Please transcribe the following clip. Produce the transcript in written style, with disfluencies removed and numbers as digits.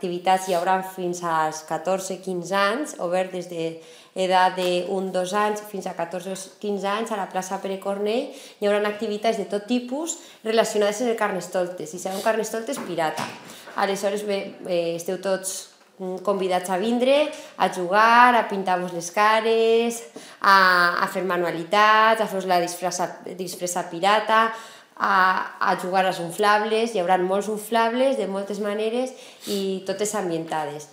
activitats hi haurà fins als 14-15 anys, obert des d'edat de 1-2 anys fins a 14-15 anys a la plaça Pere Cornell. Hi haurà activitats de tot tipus relacionades amb el Carnestoltes, i serà un Carnestoltes pirata. Aleshores, esteu tots convidats a vindre, a jugar, a pintar-vos les cares, a fer manualitats, a fer-vos la disfressa pirata, a jugar als inflables. Hi haurà molts inflables de moltes maneres i totes ambientades.